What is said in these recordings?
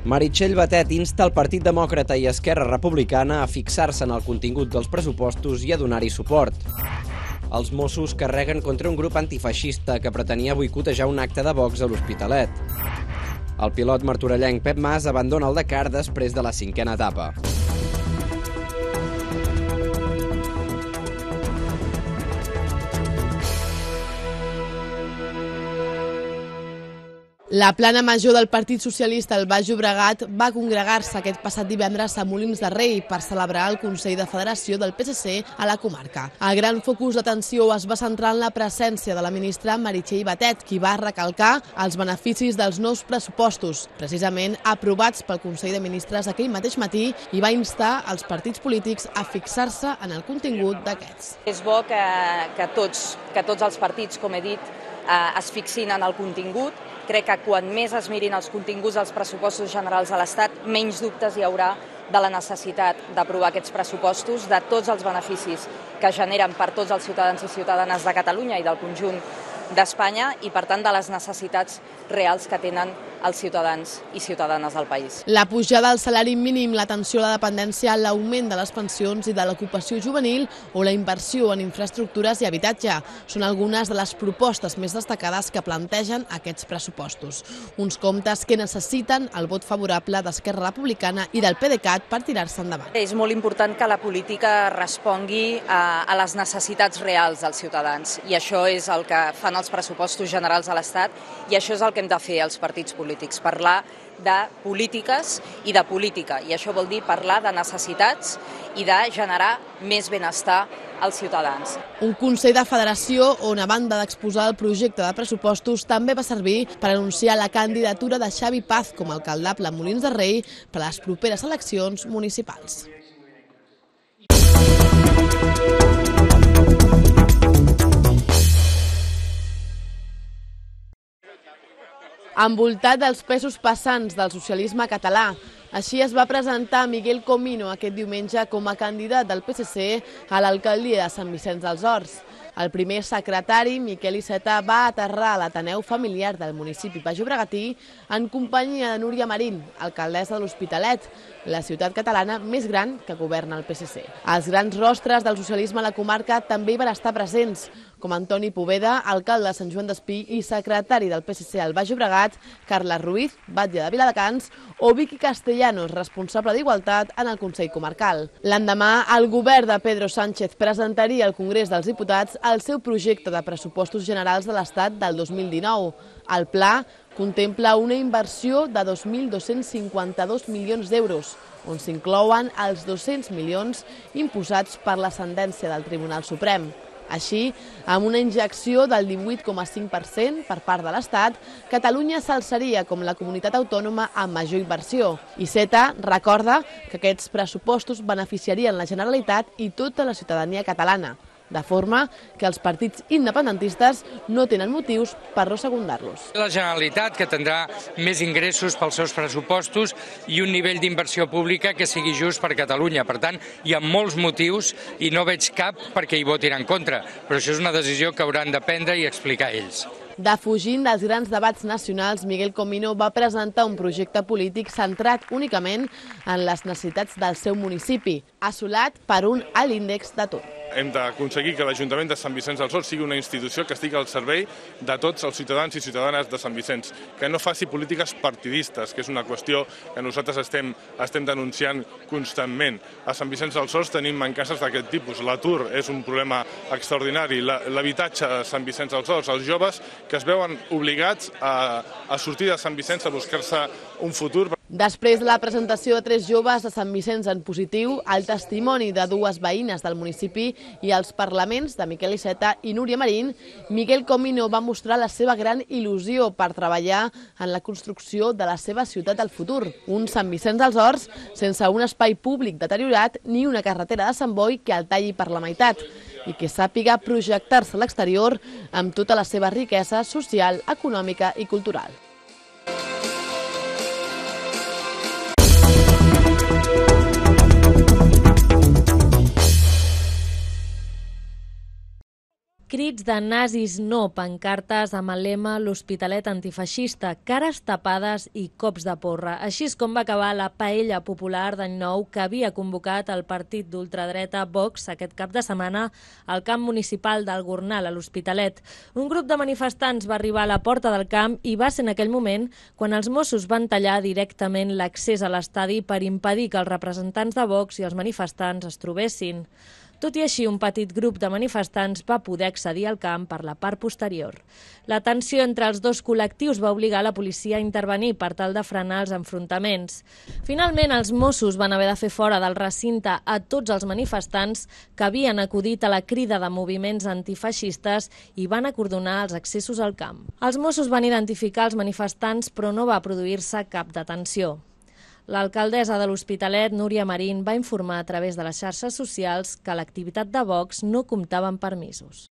Meritxell Batet insta el Partit Demòcrata i Esquerra Republicana a fixar-se en el contingut dels pressupostos i a donar-hi suport. Els Mossos carreguen contra un grup antifeixista que pretenia boicotejar un acte de Vox a l'Hospitalet. El pilot martorellenc Pep Mas abandona el Dakar després de la 5a etapa. La plana major del Partit Socialista al Baix Llobregat va congregar-se aquest passat divendres a Molins de Rei per celebrar el Consell de Federació del PSC a la comarca. El gran focus d'atenció es va centrar en la presència de la ministra Meritxell Batet, qui va recalcar els beneficis dels nous pressupostos, precisament aprovats pel Consell de Ministres aquell mateix matí, i va instar els partits polítics a fixar-se en el contingut d'aquests. És bo que tots els partits, com he dit, es fixin en el contingut. Crec que quan més es mirin els continguts dels pressupostos generals de l'Estat, menys dubtes hi haurà de la necessitat d'aprovar aquests pressupostos, de tots els beneficis que generen per tots els ciutadans i ciutadanes de Catalunya i del conjunt d'Espanya i, per tant, de les necessitats reals que tenen els ciutadans i ciutadanes del país. La pujada del salari mínim, l'atenció a la dependència, l'augment de les pensions i de l'ocupació juvenil o la inversió en infraestructures i habitatge són algunes de les propostes més destacades que plantegen aquests pressupostos. Uns comptes que necessiten el vot favorable d'Esquerra Republicana i del PDeCAT per tirar-se endavant. És molt important que la política respongui a les necessitats reals dels ciutadans i això és el que fan els pressupostos generals de l'Estat i això és el que hem de fer els partits polítics, parlar de polítiques i de política. I això vol dir parlar de necessitats i de generar més benestar als ciutadans. Un Consell de Federació on, a banda d'exposar el projecte de pressupostos, també va servir per anunciar la candidatura de Xavi Paz com a alcaldable a Molins de Rei per a les properes eleccions municipals. Envoltat dels pesos pesants del socialisme català. Així es va presentar Miguel Comino aquest diumenge com a candidat del PSC a l'alcaldia de Sant Vicenç dels Horts. El primer secretari, Miquel Iceta, va aterrar a l'Ateneu Familiar del municipi baix-llobregatí en companyia de Núria Marín, alcaldessa de l'Hospitalet, la ciutat catalana més gran que governa el PSC. Els grans rostres del socialisme a la comarca també hi van estar presents, com Antoni Poveda, alcalde de Sant Joan d'Espí i secretari del PSC al Baix Llobregat, Carla Ruiz, batlle de Viladecans, o Vicky Castellanos, responsable d'Igualtat en el Consell Comarcal. L'endemà, el govern de Pedro Sánchez presentaria al Congrés dels Diputats el seu projecte de pressupostos generals de l'Estat del 2019. El pla contempla una inversió de 2.252 milions d'euros, on s'inclouen els 200 milions imposats per la sentència del Tribunal Suprem. Així, amb una injecció del 18,5% per part de l'Estat, Catalunya s'alçaria com la comunitat autònoma amb major inversió. Iceta recorda que aquests pressupostos beneficiarien la Generalitat i tota la ciutadania catalana, de forma que els partits independentistes no tenen motius per no secundar-los. La Generalitat, que tindrà més ingressos pels seus pressupostos i un nivell d'inversió pública que sigui just per Catalunya. Per tant, hi ha molts motius i no veig cap perquè hi votin en contra, però això és una decisió que hauran de prendre i explicar ells. Defugint dels grans debats nacionals, Miguel Comino va presentar un projecte polític centrat únicament en les necessitats del seu municipi, assolat per un alt índex d'atur. Hem d'aconseguir que l'Ajuntament de Sant Vicenç dels Horts sigui una institució que estigui al servei de tots els ciutadans i ciutadanes de Sant Vicenç, que no faci polítiques partidistes, que és una qüestió que nosaltres estem denunciant constantment. A Sant Vicenç dels Horts tenim mancances d'aquest tipus. L'atur és un problema extraordinari, l'habitatge a Sant Vicenç dels Horts, els joves que es veuen obligats a sortir de Sant Vicenç a buscar-se un futur. Després de la presentació de 3 joves de Sant Vicenç en positiu, el testimoni de 2 veïnes del municipi i els parlaments de Miquel Iceta i Núria Marín, Miguel Comino va mostrar la seva gran il·lusió per treballar en la construcció de la seva ciutat del futur. Un Sant Vicenç dels Horts sense un espai públic deteriorat ni una carretera de Sant Boi que el talli per la meitat i que sàpiga projectar-se a l'exterior amb tota la seva riquesa social, econòmica i cultural. Crits de nazis no, pancartes amb el lema l'Hospitalet antifeixista, cares tapades i cops de porra. Així és com va acabar la paella popular d'any nou que havia convocat el partit d'ultradreta Vox aquest cap de setmana al camp municipal del Gornal, a l'Hospitalet. Un grup de manifestants va arribar a la porta del camp i va ser en aquell moment quan els Mossos van tallar directament l'accés a l'estadi per impedir que els representants de Vox i els manifestants es trobessin. Tot i així, un petit grup de manifestants va poder accedir al camp per la part posterior. La tensió entre els dos col·lectius va obligar la policia a intervenir per tal de frenar els enfrontaments. Finalment, els Mossos van haver de fer fora del recinte a tots els manifestants que havien acudit a la crida de moviments antifeixistes i van acordonar els accessos al camp. Els Mossos van identificar els manifestants, però no va produir-se cap detenció. L'alcaldessa de l'Hospitalet, Núria Marín, va informar a través de les xarxes socials que l'activitat de Vox no comptava amb permisos.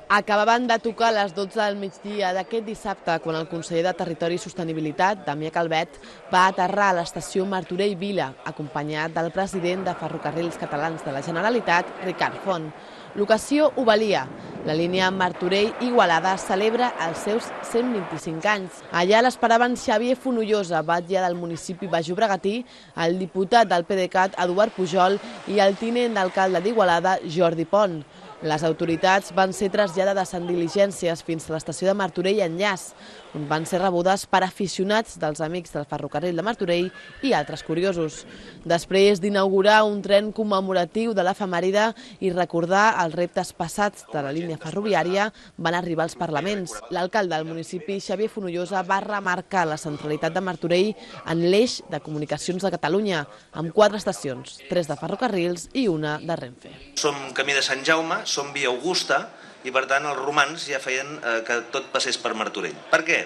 Acabaven de tocar a les 12 del migdia d'aquest dissabte quan el conseller de Territori i Sostenibilitat, Damià Calvet, va aterrar a l'estació Martorell Vila, acompanyat del president de Ferrocarrils Catalans de la Generalitat, Ricard Font. L'ocasió ho valia. La línia Martorell-Igualada celebra els seus 125 anys. Allà l'esperaven Xavier Fonollosa, batlle del municipi baix-llobregatí, el diputat del PDeCAT, Eduard Pujol, i el tinent d'alcalde d'Igualada, Jordi Pont. Les autoritats van ser traslladades en diligències fins a l'estació de Martorell Enllaç, on van ser rebudes per aficionats dels amics del ferrocarril de Martorell i altres curiosos. Després d'inaugurar un tren commemoratiu de l'efemèride i recordar els reptes passats de la línia ferroviària, van arribar als parlaments. L'alcalde del municipi, Xavier Fonollosa, va remarcar la centralitat de Martorell en l'eix de comunicacions de Catalunya, amb 4 estacions, 3 de ferrocarrils i una de Renfe. Som camí de Sant Jaume, som via Augusta, i per tant els romans ja feien que tot passés per Martorell. Per què?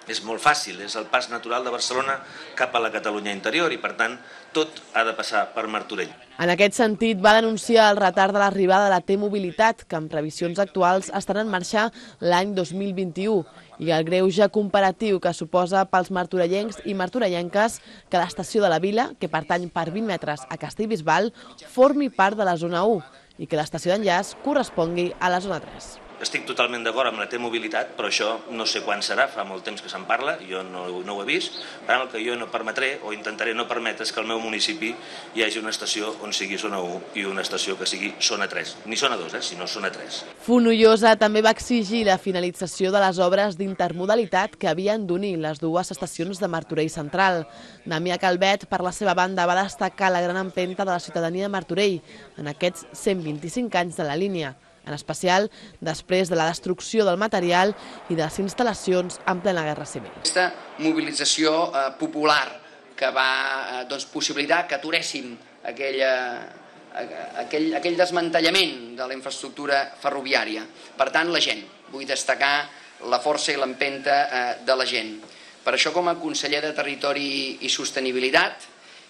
És molt fàcil, és el pas natural de Barcelona cap a la Catalunya interior i per tant tot ha de passar per Martorell. En aquest sentit va denunciar el retard de l'arribada de la T-Mobilitat, que en previsions actuals estarà en marxa l'any 2021, i el greuge comparatiu que suposa pels martorellencs i martorellenques que l'estació de la Vila, que pertany per 20 metres a Castellbisbal, formi part de la zona 1 i que l'estació d'enllaç correspongui a la zona 3. Estic totalment d'acord amb la T-Mobilitat, però això no sé quan serà, fa molt temps que se'n parla, jo no ho he vist. Per tant, el que jo no permetré o intentaré no permetre és que al meu municipi hi hagi una estació on sigui zona 1 i una estació que sigui zona 3. Ni zona 2, sinó zona 3. Fonollosa també va exigir la finalització de les obres d'intermodalitat que havien d'unir les dues estacions de Martorell Central. Damià Calvet, per la seva banda, va destacar la gran empenta de la ciutadania de Martorell en aquests 125 anys de la línia, en especial després de la destrucció del material i de les instal·lacions en plena guerra civil. Aquesta mobilització popular que va possibilitar que aturéssim aquell desmantellament de la infraestructura ferroviària. Per tant, la gent. Vull destacar la força i l'empenta de la gent. Per això, com a conseller de Territori i Sostenibilitat,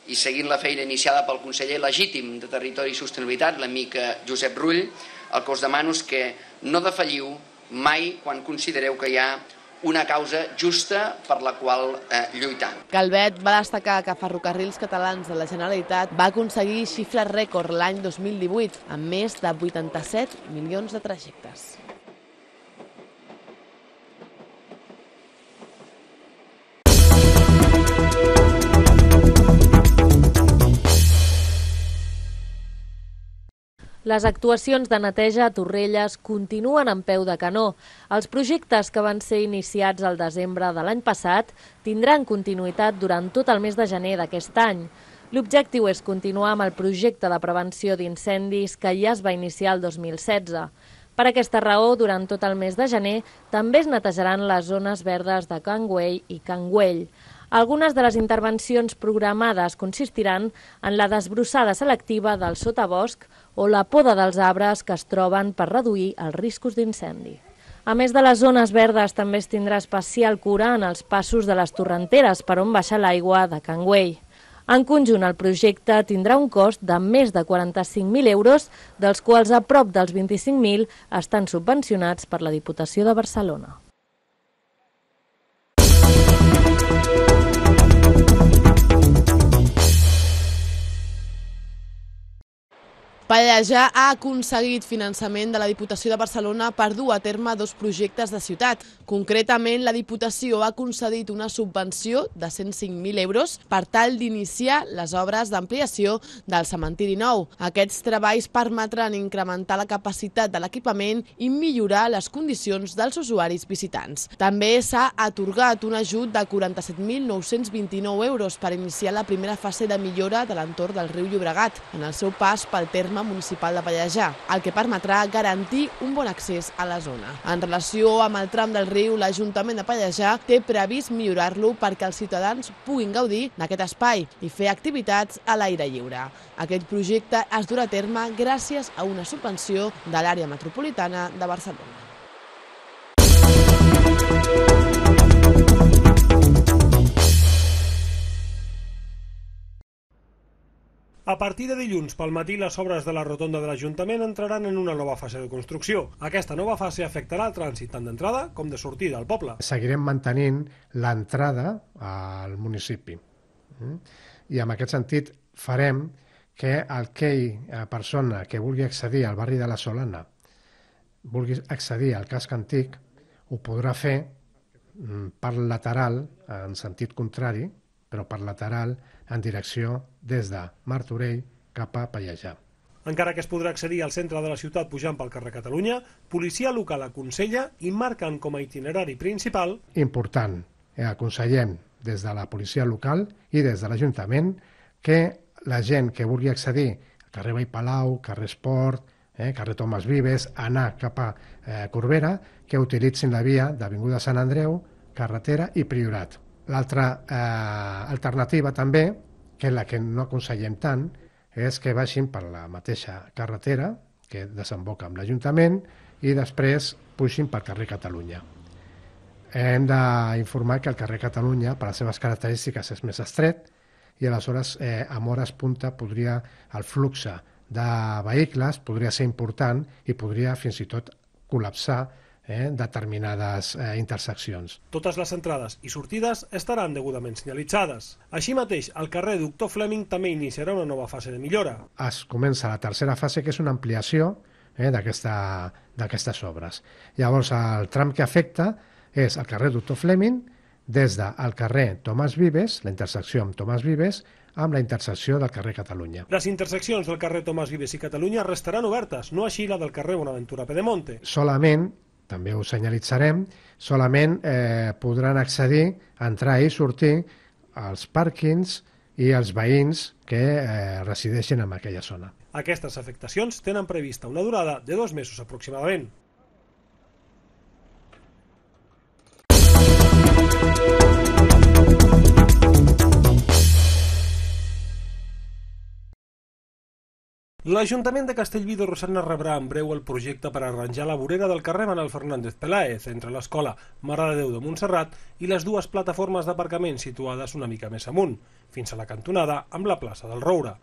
i seguint la feina iniciada pel conseller legítim de Territori i Sostenibilitat, l'amic Josep Rull, el que us demano és que no defalliu mai quan considereu que hi ha una causa justa per la qual lluitar. Calvet va destacar que Ferrocarrils Catalans de la Generalitat va aconseguir xifres rècord l'any 2018, amb més de 87 milions de trajectes. Les actuacions de neteja a Torrelles continuen en peu de canó. Els projectes que van ser iniciats al desembre de l'any passat tindran continuïtat durant tot el mes de gener d'aquest any. L'objectiu és continuar amb el projecte de prevenció d'incendis que ja es va iniciar el 2016. Per aquesta raó, durant tot el mes de gener, també es netejaran les zones verdes de Can Güell i Can Güell. Algunes de les intervencions programades consistiran en la desbrossada selectiva del sotabosc o la poda dels arbres que es troben per reduir els riscos d'incendi. A més de les zones verdes, també es tindrà especial cura en els passos de les torrenteres per on baixa l'aigua de Can Güell. En conjunt, el projecte tindrà un cost de més de 45.000 euros, dels quals a prop dels 25.000 estan subvencionats per la Diputació de Barcelona. Pallejà ha aconseguit finançament de la Diputació de Barcelona per dur a terme 2 projectes de ciutat. Concretament, la Diputació ha concedit una subvenció de 105.000 euros per tal d'iniciar les obres d'ampliació del cementiri nou. Aquests treballs permetran incrementar la capacitat de l'equipament i millorar les condicions dels usuaris visitants. També s'ha atorgat un ajut de 47.929 euros per iniciar la primera fase de millora de l'entorn del riu Llobregat, en el seu pas pel terme municipal de Pallejà, el que permetrà garantir un bon accés a la zona. En relació amb el tram del riu, l'Ajuntament de Pallejà té previst millorar-lo perquè els ciutadans puguin gaudir d'aquest espai i fer activitats a l'aire lliure. Aquest projecte es durà a terme gràcies a una subvenció de l'àrea metropolitana de Barcelona. A partir de dilluns pel matí, les obres de la rotonda de l'Ajuntament entraran en una nova fase de construcció. Aquesta nova fase afectarà el trànsit tant d'entrada com de sortida al poble. Seguirem mantenint l'entrada al municipi. I en aquest sentit farem que aquella persona que vulgui accedir al barri de la Solana, vulgui accedir al casc antic, ho podrà fer per lateral, en sentit contrari, però per lateral en direcció des de Martorell cap a Pallejà. Encara que es podrà accedir al centre de la ciutat pujant pel carrer Catalunya, policia local aconsella i marquen com a itinerari principal... Important, aconsellem des de la policia local i des de l'Ajuntament que la gent que vulgui accedir al carrer Vall Palau, carrer Esport, carrer Tomàs Vives, anar cap a Corbera, que utilitzin la via d'Avinguda Sant Andreu, carretera i Priorat. L'altra alternativa també, que és la que no aconsellem tant, és que vagin per la mateixa carretera que desemboca amb l'Ajuntament i després pugin pel carrer Catalunya. Hem d'informar que el carrer Catalunya, per les seves característiques, és més estret i aleshores amb hores punta el flux de vehicles podria ser important i podria fins i tot col·lapsar determinades interseccions. Totes les entrades i sortides estaran degudament senyalitzades. Així mateix, el carrer Doctor Fleming també iniciarà una nova fase de millora. Es comença la tercera fase, que és una ampliació d'aquestes obres. Llavors, el tram que afecta és el carrer Doctor Fleming, des del carrer Tomàs Vives, la intersecció amb Tomàs Vives, amb la intersecció del carrer Catalunya. Les interseccions del carrer Tomàs Vives i Catalunya restaran obertes, no així la del carrer Bonaventura Pedemonte. Solament, també ho senyalitzarem, solament podran accedir, entrar i sortir als pàrquings i els veïns que resideixen en aquella zona. Aquestes afectacions tenen prevista una durada de 2 mesos aproximadament. L'Ajuntament de Castellví de Rosanes rebrà en breu el projecte per arranjar la vorera del carrer Manuel Fernández Peláez entre l'Escola Mare de Déu de Montserrat i les 2 plataformes d'aparcament situades una mica més amunt, fins a la cantonada amb la plaça del Roure.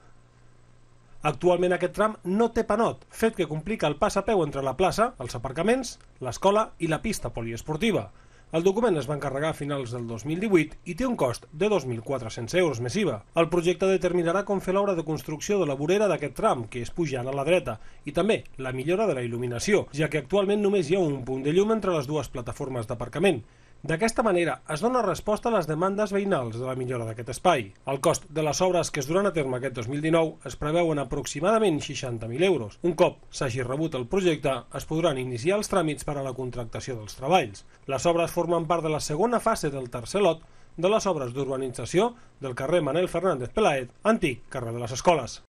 Actualment aquest tram no té panot, fet que complica el pas a peu entre la plaça, els aparcaments, l'escola i la pista poliesportiva. El document es va encarregar a finals del 2018 i té un cost de 2.400 euros més IVA. El projecte determinarà com fer l'obra de construcció de la vorera d'aquest tram, que és pujant a la dreta, i també la millora de la il·luminació, ja que actualment només hi ha un punt de llum entre les 2 plataformes d'aparcament. D'aquesta manera es dona resposta a les demandes veïnals de la millora d'aquest espai. El cost de les obres que es duran a terme aquest 2019 es preveuen aproximadament 60.000 euros. Un cop s'hagi rebut el projecte, es podran iniciar els tràmits per a la contractació dels treballs. Les obres formen part de la segona fase del tercer lot de les obres d'urbanització del carrer Manuel Fernández Peláez, antic carrer de les Escoles.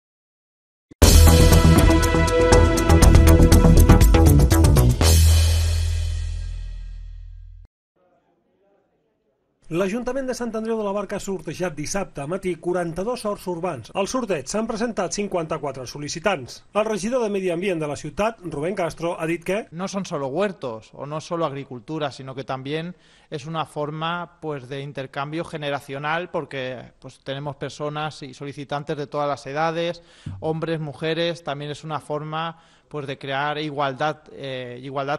L'Ajuntament de Sant Andreu de la Barca ha sortejat dissabte a matí 42 horts urbans. Al sorteig s'han presentat 54 sol·licitants. El regidor de Medi Ambient de la ciutat, Rubén Castro, ha dit que no son solo huertos o no solo agricultura, sino que también es una forma de intercambio generacional porque tenemos personas y solicitantes de todas las edades, hombres, mujeres, también es una forma de crear igualdad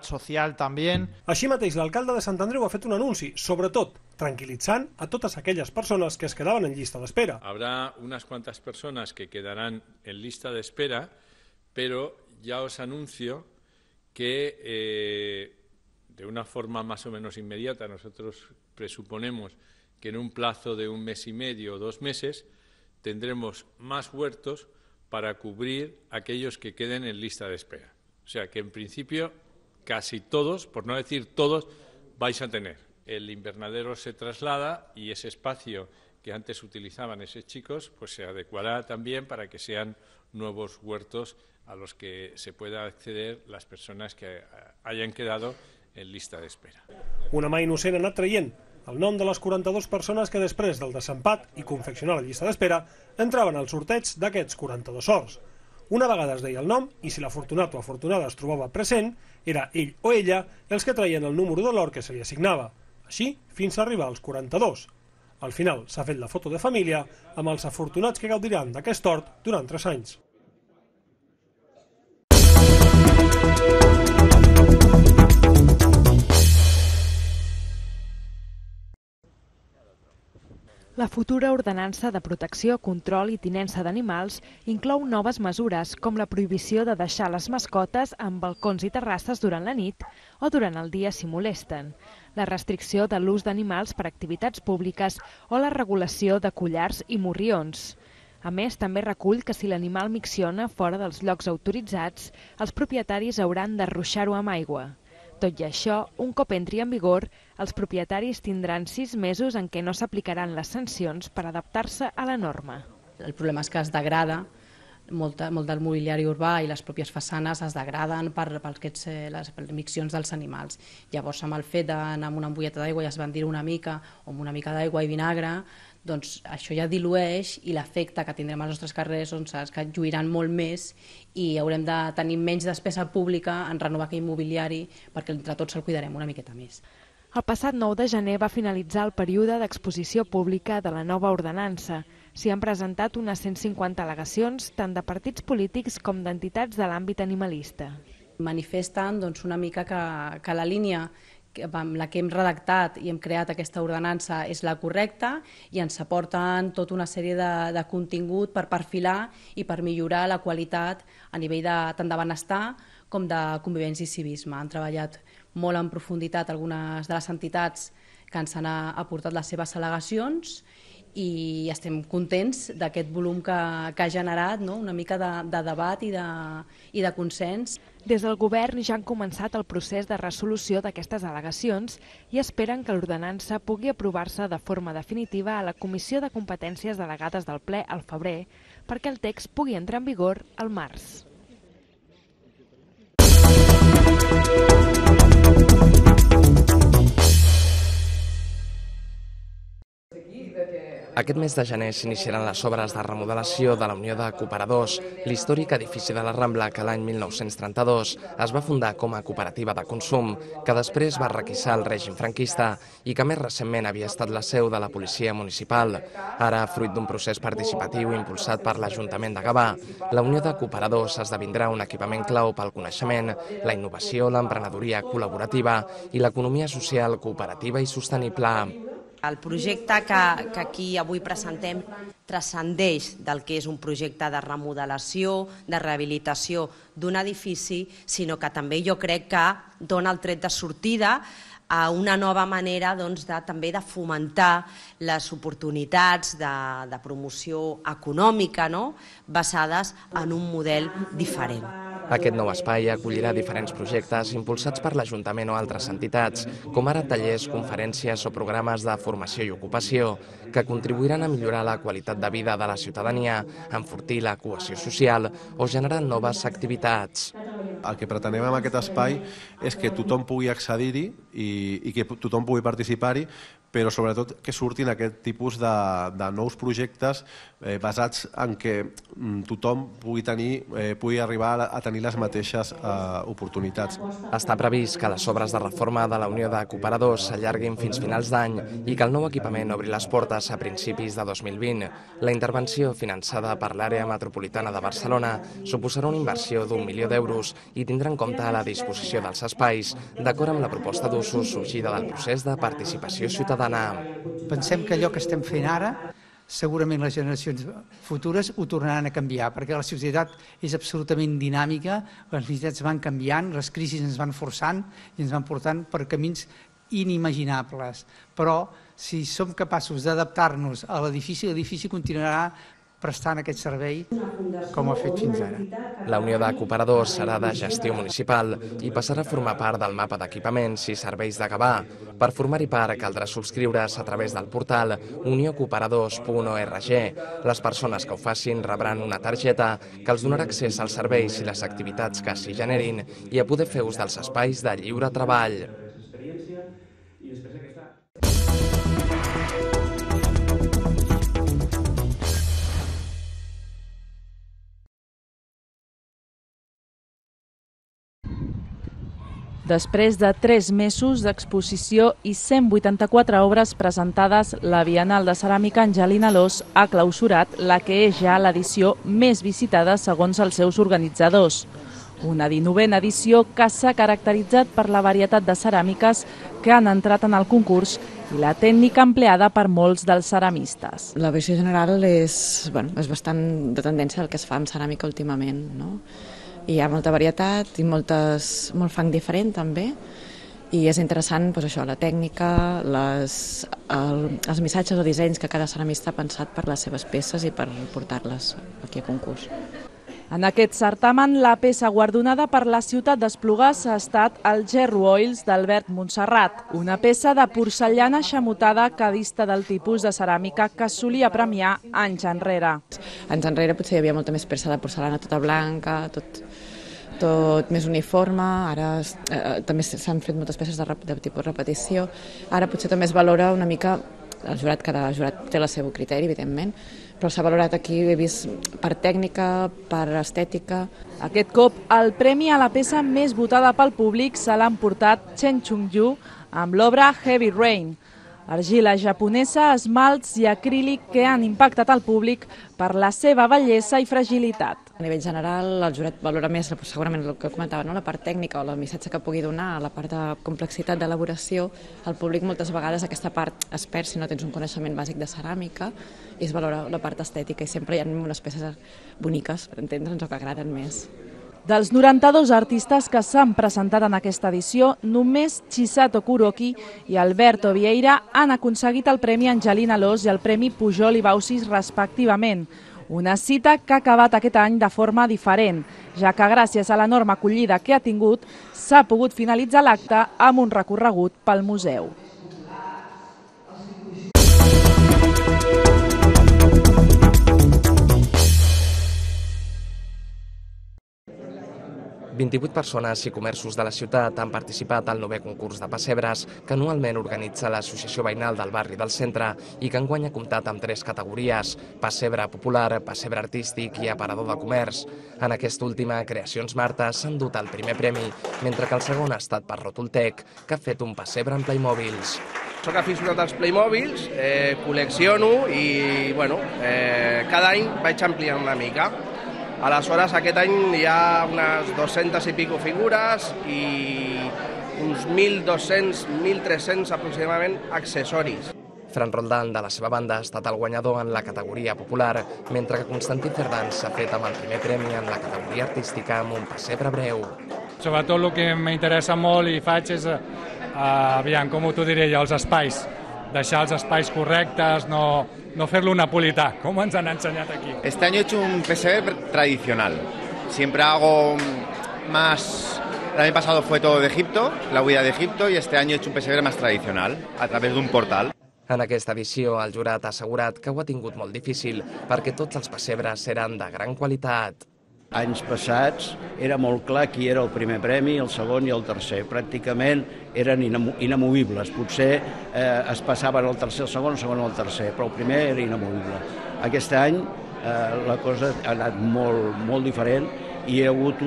social también. Així mateix, l'alcalde de Sant Andreu ha fet un anunci, sobretot tranquilitzant a totes aquelles persones que es quedaven en llista d'espera. Habrá unas cuantas personas que quedarán en lista de espera, pero ya os anuncio que de una forma más o menos inmediata, nosotros presuponemos que en un plazo de 1 mes y medio o 2 meses tendremos más huertos para cubrir aquellos que queden en lista de espera. O sea que en principio casi todos, por no decir todos, vais a tener. El invernadero se traslada y ese espacio que antes utilizaban esos chicos pues se adecuará también para que sean nuevos huertos a los que se pueda acceder las persones que hayan quedado en lista d'espera. Una mà innocent ha anat traient el nom de les 42 persones que després del desempat i confeccionar la llista d'espera entraven al sorteig d'aquests 42 sorts. Una vegada es deia el nom i si l'afortunat o afortunada es trobava present, era ell o ella els que traien el número de l'or que se li assignava. Així, fins a arribar als 42. Al final s'ha fet la foto de família amb els afortunats que gaudiran d'aquest hort durant 3 anys. La futura ordenança de protecció, control i tinença d'animals inclou noves mesures com la prohibició de deixar les mascotes en balcons i terrasses durant la nit o durant el dia si molesten, la restricció de l'ús d'animals per activitats públiques o la regulació de collars i morrions. A més, també recull que si l'animal micciona fora dels llocs autoritzats, els propietaris hauran de ruixar-ho amb aigua. Tot i això, un cop entri en vigor, els propietaris tindran 6 mesos en què no s'aplicaran les sancions per adaptar-se a la norma. El problema és que es degrada, molt del mobiliari urbà i les pròpies façanes es degraden per les miccions dels animals. Llavors, amb el fet d'anar amb una ampolleta d'aigua i esbandir una mica, o amb una mica d'aigua i vinagre, doncs això ja dilueix i l'efecte que tindrem als nostres carrers és que lluiran molt més i haurem de tenir menys despesa pública en renovar aquell mobiliari perquè entre tots el cuidarem una miqueta més. El passat 9 de gener va finalitzar el període d'exposició pública de la nova ordenança. S'hi han presentat unes 150 al·legacions tant de partits polítics com d'entitats de l'àmbit animalista. Manifesten una mica que la línia amb la que hem redactat i hem creat aquesta ordenança és la correcta i ens aporten tota una sèrie de contingut per perfilar i per millorar la qualitat a nivell tant de benestar com de convivència i civisme. Han treballat molt en profunditat algunes de les entitats que ens han aportat les seves al·legacions i estem contents d'aquest volum que ha generat una mica de debat i de consens. Des del govern ja han començat el procés de resolució d'aquestes al·legacions i esperen que l'ordenança pugui aprovar-se de forma definitiva a la Comissió de Competències Delegades del Ple al febrer perquè el text pugui entrar en vigor al març. Aquest mes de gener s'iniciaran les obres de remodelació de la Unió de Cooperadors, l'històric edifici de la Rambla que l'any 1932 es va fundar com a cooperativa de consum, que després va requisar el règim franquista i que més recentment havia estat la seu de la policia municipal. Ara, fruit d'un procés participatiu impulsat per l'Ajuntament de Gavà, la Unió de Cooperadors esdevindrà un equipament clau pel coneixement, la innovació, l'emprenedoria col·laborativa i l'economia social cooperativa i sostenible. El projecte que aquí avui presentem transcendeix del que és un projecte de remodelació, de rehabilitació d'un edifici, sinó que també jo crec que dona el tret de sortida a una nova manera també de fomentar les oportunitats de promoció econòmica basades en un model diferent. Aquest nou espai acollirà diferents projectes impulsats per l'Ajuntament o altres entitats, com ara tallers, conferències o programes de formació i ocupació, que contribuiran a millorar la qualitat de vida de la ciutadania, enfortir la cohesió social o generar noves activitats. El que pretenem amb aquest espai és que tothom pugui accedir-hi i que tothom pugui participar-hi, però sobretot que surtin aquest tipus de nous projectes basats en què tothom pugui arribar a tenir les mateixes oportunitats. Està previst que les obres de reforma de la Unió de Cooperadors s'allarguin fins finals d'any i que el nou equipament obri les portes a principis de 2020. La intervenció finançada per l'àrea metropolitana de Barcelona suposarà una inversió d'1 milió d'euros i tindrà en compte la disposició dels espais, d'acord amb la proposta d'usos sorgida del procés de participació ciutadana. Pensem que allò que estem fent ara segurament les generacions futures ho tornaran a canviar, perquè la societat és absolutament dinàmica, les necessitats van canviant, les crisis ens van forçant i ens van portant per camins inimaginables. Però si som capaços d'adaptar-nos a l'edifici, l'edifici continuarà prestant aquest servei com ha fet fins ara. La Unió de Cooperadors serà de gestió municipal i passarà a formar part del mapa d'equipaments i serveis de Gavà. Per formar-hi part caldrà subscriure's a través del portal uniocooperadors.org. Les persones que ho facin rebran una targeta que els donarà accés als serveis i les activitats que s'hi generin i a poder fer ús dels espais de lliure treball. Després de 3 mesos d'exposició i 184 obres presentades, la Bienal de Ceràmica Angelina Alòs ha clausurat la que és ja l'edició més visitada segons els seus organitzadors. Una 19a edició que s'ha caracteritzat per la varietat de ceràmiques que han entrat en el concurs i la tècnica empleada per molts dels ceramistes. La visió general és bastant de tendència del que es fa amb ceràmica últimament, no? Hi ha molta varietat i molt fang diferent també, i és interessant la tècnica, els missatges o dissenys que cada ceramista ha pensat per les seves peces i per portar-les aquí a concurs. En aquest certamen, la peça guardonada per la ciutat d'Esplugues ha estat el Gerro Oils d'Albert Montserrat, una peça de porcellana xamutada que dista del tipus de ceràmica que es solia premiar anys enrere. Anys enrere potser hi havia molta més peça de porcellana tota blanca, tot més uniforme, ara també s'han fet moltes peces de tipus repetició, ara potser també es valora una mica, cada jurat té el seu criteri, evidentment, però s'ha valorat aquí, he vist, per tècnica, per estètica. Aquest cop, el premi a la peça més votada pel públic se l'ha emportat Chen Chung-yu amb l'obra Heavy Rain. Argila japonesa, esmalts i acrílic que han impactat al públic per la seva bellesa i fragilitat. A nivell general, el jurat valora més segurament el que comentava, la part tècnica o el missatge que pugui donar, la part de complexitat d'elaboració. El públic moltes vegades aquesta part es perd si no tens un coneixement bàsic de ceràmica i es valora la part estètica i sempre hi ha unes peces boniques, per entendre'ns, o que agraden més. Dels 92 artistes que s'han presentat en aquesta edició, només Chisato Kuroki i Alberto Vieira han aconseguit el Premi Angelina Alòs i el Premi Pujol i Baucis respectivament. Una cita que ha acabat aquest any de forma diferent, ja que gràcies a l'enorme acollida que ha tingut, s'ha pogut finalitzar l'acte amb un recorregut pel museu. ...28 persones i comerços de la ciutat han participat al 9è concurs de pessebres que anualment organitza l'Associació Veïnal del Barri del Centre i que enguany ha comptat amb 3 categories: pessebre popular, pessebre artístic i aparador de comerç. En aquesta última, Creacions Marta s'han dut el primer premi, mentre que el segon ha estat per Rotultec, que ha fet un pessebre en Playmobils. Soc aficionat als Playmobils, col·lecciono i cada any vaig ampliant una mica. Aleshores, aquest any hi ha unes 200 i pico figures i uns 1.200, 1.300 aproximadament accessoris. Fran Roldán, de la seva banda, ha estat el guanyador en la categoria popular, mentre que Constantí Cerdán s'ha fet amb el primer premi en la categoria artística amb un pessebre breu. Sobretot el que m'interessa molt i faig és, com t'ho diré jo, els espais. Deixar els espais correctes, no fer-lo napolità, com ens han ensenyat aquí. Este año he hecho un pesebre tradicional. Siempre hago más... El año pasado fue todo de Egipto, la huida de Egipto, y este año he hecho un pesebre más tradicional, a través d'un portal. En aquesta edició, el jurat ha assegurat que ho ha tingut molt difícil perquè tots els pessebres eren de gran qualitat. Anys passats era molt clar qui era el primer premi, el segon i el tercer. Pràcticament eren inamovibles. Potser es passaven el tercer, el segon el tercer, però el primer era inamovible. Aquest any la cosa ha anat molt diferent i hi ha hagut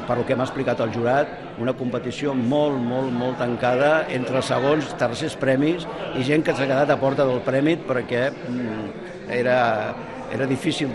per el que m'ha explicat el jurat, una competició molt tancada entre segons, tercers premis i gent que s'ha quedat a porta del premi perquè era difícil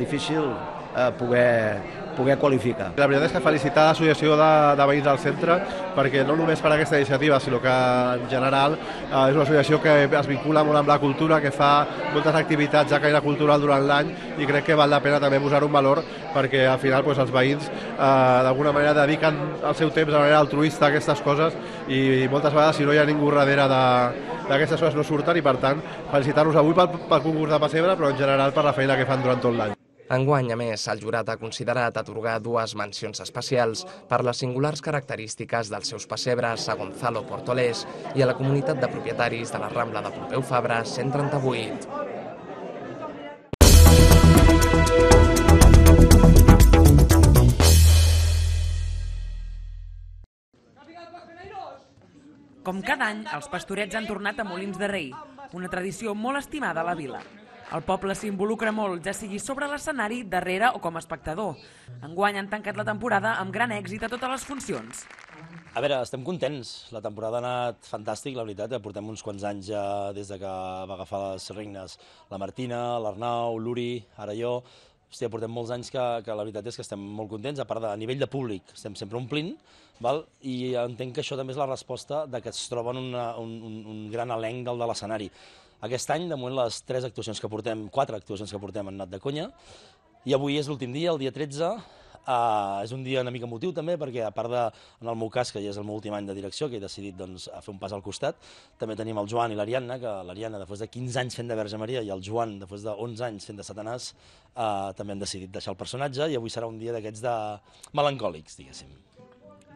poder poder qualificar. La veritat és que felicitar l'associació de veïns del centre, perquè no només per aquesta iniciativa, sinó que en general és una associació que es vincula molt amb la cultura, que fa moltes activitats de caire cultural durant l'any, i crec que val la pena també posar un valor, perquè al final els veïns d'alguna manera dediquen el seu temps de manera altruista a aquestes coses, i moltes vegades si no hi ha ningú darrere d'aquestes coses no surten, i per tant felicitar-los avui pel concurs de pessebre, però en general per la feina que fan durant tot l'any. Enguany, a més, el jurat ha considerat atorgar 2 mencions especials per les singulars característiques dels seus pessebres a Gonzalo Portolés i a la comunitat de propietaris de la Rambla de Pompeu Fabra 138. Com cada any, els pastorets han tornat a Molins de Rei, una tradició molt estimada a la vila. El poble s'involucra molt, ja sigui sobre l'escenari, darrere o com a espectador. Enguany han tancat la temporada amb gran èxit a totes les funcions. A veure, estem contents. La temporada ha anat fantàstic, la veritat. Portem uns quants anys ja des de que va agafar les regnes la Martina, l'Arnau, l'Uri, ara jo. Hòstia, portem molts anys que la veritat és que estem molt contents, a part de a nivell de públic, estem sempre omplint, i entenc que això també és la resposta de que es troben un gran elenc del de l'escenari. Aquest any, de moment, les 4 actuacions que portem han anat de conya, i avui és l'últim dia, el dia 13. És un dia una mica emotiu també, perquè a part de, en el meu cas, que ja és el meu últim any de direcció, que he decidit fer un pas al costat, també tenim el Joan i l'Ariadna, que l'Ariadna, després de 15 anys fent de Verge Maria, i el Joan, després de 11 anys fent de Satanàs, també han decidit deixar el personatge, i avui serà un dia d'aquests de melancòlics, diguéssim.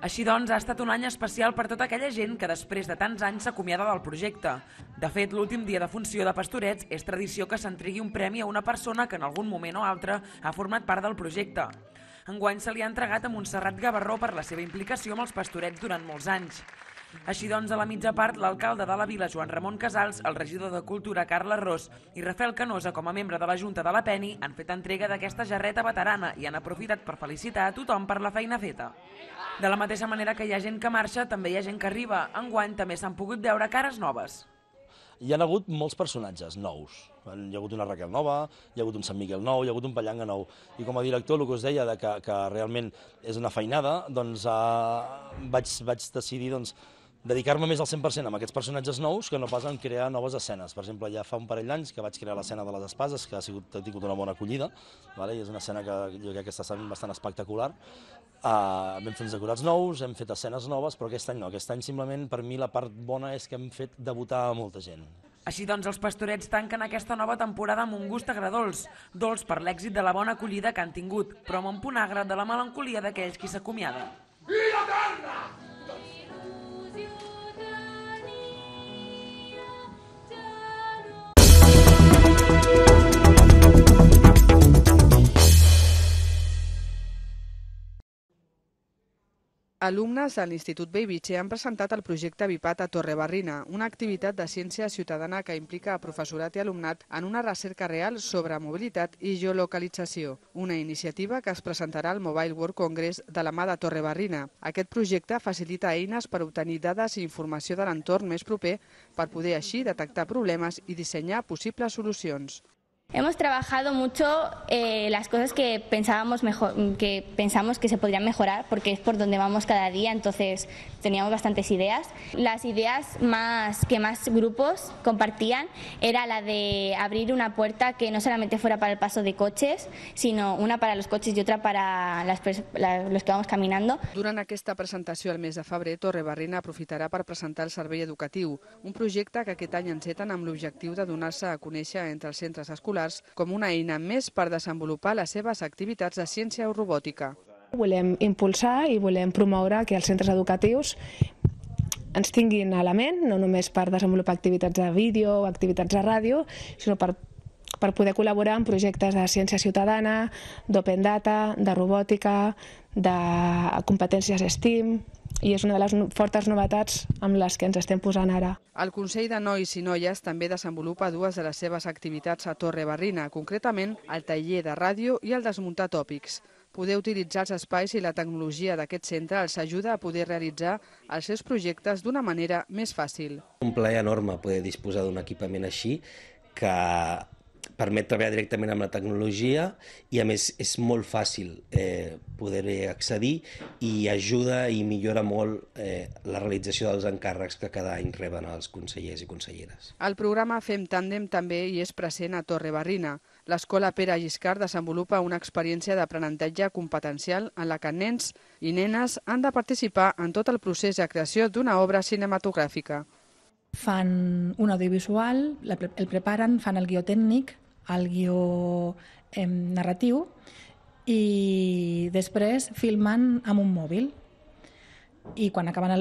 Així doncs, ha estat un any especial per tota aquella gent que després de tants anys s'acomiada del projecte. De fet, l'últim dia de funció de Pastorets és tradició que s'entregui un premi a una persona que en algun moment o altre ha format part del projecte. Enguany se li ha entregat a Montserrat Gavarró per la seva implicació amb els Pastorets durant molts anys. Així doncs, a la mitja part, l'alcalde de la vila, Joan Ramon Casals, el regidor de Cultura, Carles Ros, i Rafael Canosa, com a membre de la Junta de la Peni, han fet entrega d'aquesta jarreta veterana i han aprofitat per felicitar a tothom per la feina feta. De la mateixa manera que hi ha gent que marxa, també hi ha gent que arriba. Enguany també s'han pogut veure cares noves. Hi ha hagut molts personatges nous. Hi ha hagut una Raquel nova, hi ha hagut un Sant Miquel nou, hi ha hagut un Pallanga nou. I com a director, el que us deia que realment és una feinada, doncs vaig decidir dedicar-me més al 100% amb aquests personatges nous que no pas en crear noves escenes. Per exemple, ja fa un parell d'anys que vaig crear l'escena de les espases, que ha tingut una bona acollida, i és una escena que jo crec que està sent bastant espectacular. Vam fer uns decorats nous, hem fet escenes noves, però aquest any no. Aquest any simplement, per mi, la part bona és que hem fet debutar a molta gent. Així doncs, els Pastorets tanquen aquesta nova temporada amb un gust agredolç, dolç per l'èxit de la bona acollida que han tingut, però amb un punt agre de la melancolia d'aquells qui s'acomiaden. Vida eterna! Alumnes de l'Institut Bellvitge han presentat el projecte Vipat a Torrebarrina, una activitat de ciència ciutadana que implica a professorat i alumnat en una recerca real sobre mobilitat i geolocalització, una iniciativa que es presentarà al Mobile World Congress de la mà de Torrebarrina. Aquest projecte facilita eines per obtenir dades i informació de l'entorn més proper per poder així detectar problemes i dissenyar possibles solucions. Hemos trabajado mucho las cosas que pensamos que se podrían mejorar, porque es por donde vamos cada día, entonces teníamos bastantes ideas. Las ideas que más grupos compartían era la de abrir una puerta que no solamente fuera para el paso de coches, sino una para los coches y otra para los que vamos caminando. Durant aquesta presentació al mes de febrer, Torrebarrina aprofitarà per presentar el servei educatiu, un projecte que aquest any enceten amb l'objectiu de donar-se a conèixer entre els centres escolars com una eina més per desenvolupar les seves activitats de ciència o robòtica. Volem impulsar i volem promoure que els centres educatius ens tinguin a la ment, no només per desenvolupar activitats de vídeo o activitats de ràdio, sinó per poder col·laborar en projectes de ciència ciutadana, d'open data, de robòtica, de competències STEAM, i és una de les fortes novetats amb les que ens estem posant ara. El Consell de Nois i Noies també desenvolupa dues de les seves activitats a Torrebarrina, concretament el taller de ràdio i el desmuntar tòpics. Poder utilitzar els espais i la tecnologia d'aquest centre els ajuda a poder realitzar els seus projectes d'una manera més fàcil. Un plaer enorme poder disposar d'un equipament així que permet treballar directament amb la tecnologia i a més és molt fàcil poder-hi accedir i ajuda i millora molt la realització dels encàrrecs que cada any reben els consellers i conselleres. El programa Fem Tàndem també hi és present a Torrebarrina. L'Escola Pere Lliscard desenvolupa una experiència d'aprenentatge competencial en la que nens i nenes han de participar en tot el procés de creació d'una obra cinematogràfica. Fan un audiovisual, el preparen, fan el guió tècnic, el guió narratiu i després filmen amb un mòbil i quan acaben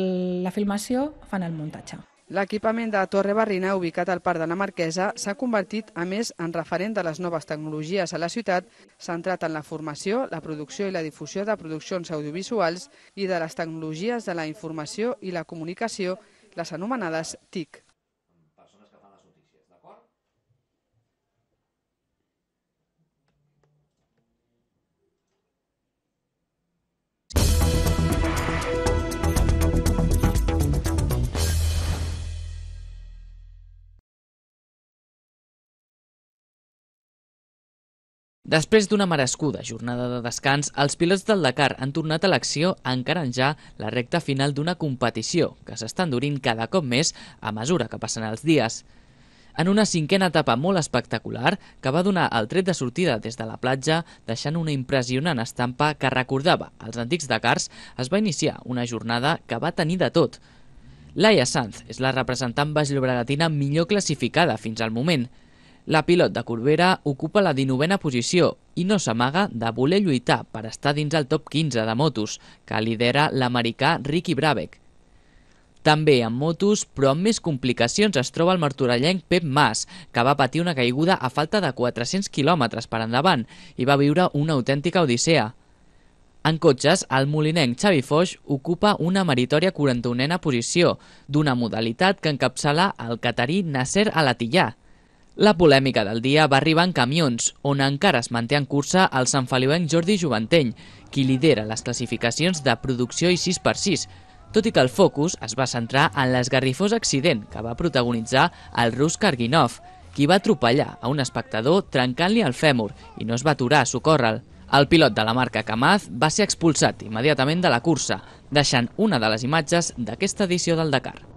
la filmació fan el muntatge. L'equipament de Torrebarrina, ubicat al Parc de la Marquesa, s'ha convertit, a més, en referent de les noves tecnologies a la ciutat, centrat en la formació, la producció i la difusió de produccions audiovisuals i de les tecnologies de la informació i la comunicació, les anomenades TIC. Després d'una merescuda jornada de descans, els pilots del Dakar han tornat a l'acció encarant ja la recta final d'una competició que s'està endurint cada cop més a mesura que passen els dies. En una cinquena etapa molt espectacular que va donar el tret de sortida des de la platja, deixant una impressionant estampa que recordava els antics Dakars, es va iniciar una jornada que va tenir de tot. Laia Sanz és la representant baix-llobregatina millor classificada fins al moment. La pilot de Corbera ocupa la 19a posició i no s'amaga de voler lluitar per estar dins el top 15 de motos, que lidera l'americà Ricky Brabec. També en motos, però amb més complicacions, es troba el martorellenc Pep Mas, que va patir una caiguda a falta de 400 quilòmetres per endavant i va viure una autèntica odissea. En cotxes, el molinenc Xavi Foix ocupa una meritòria 41a posició, d'una modalitat que encapçala el catarí Nasser Al-Attiyah. La polèmica del dia va arribar en camions, on encara es manté en cursa el santfeliuenc Jordi Juventeny, qui lidera les classificacions de producció i 6x6, tot i que el focus es va centrar en l'esgarrifós accident que va protagonitzar el rus Karginov, qui va atropellar a un espectador trencant-li el fèmur i no es va aturar a socórrer-lo. El pilot de la marca Kamaz va ser expulsat immediatament de la cursa, deixant una de les imatges d'aquesta edició del Dakar.